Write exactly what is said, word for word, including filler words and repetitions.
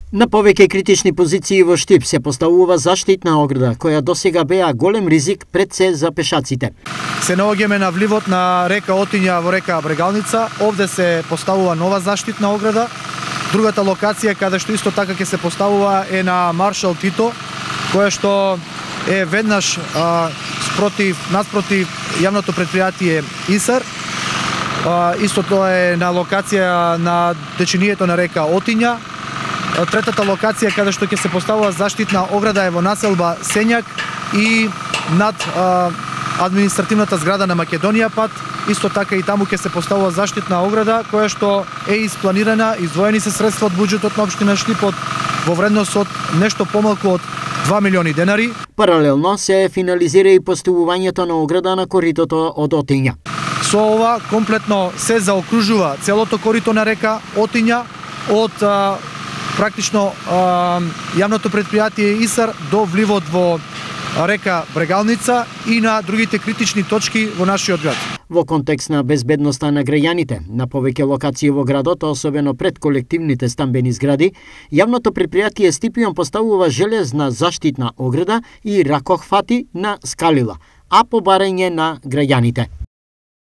На повеќе критични позиции во Штип се поставува заштитна ограда, која досега беа голем ризик пред се за пешаците. Се наоѓаме на вливот на река Отиња во река Брегалница. Овде се поставува нова заштитна ограда. Другата локација каде што исто така ќе се поставува е на Маршал Тито, која што е веднаш а, спротив, наспротив јавното предпријатие ИСАР. А, исто тоа е на локација на течението на река Отиња. Третата локација каде што ќе се поставува заштитна ограда е во населба Сењак и над а, административната зграда на Македонија пат. Исто така и таму ќе се поставува заштитна ограда која што е испланирана, издвоени се средства од буџетот на општина Штип во вредност од нешто помалку од два милиони денари. Паралелно се финализира и поставувањето на ограда на коритото од Отиња. Со ова комплетно се заокружува целото корито на река Отиња од а, практично а, јавното предпријатие ИСАР до вливот во река Брегалница и на другите критични точки во нашиот град. Во контекст на безбедноста на граѓаните, на повеќе локации во градот, особено пред колективните стамбени згради, јавното предпријатие Стипион поставува железна заштитна ограда и ракохвати на скалила, а по барање на граѓаните.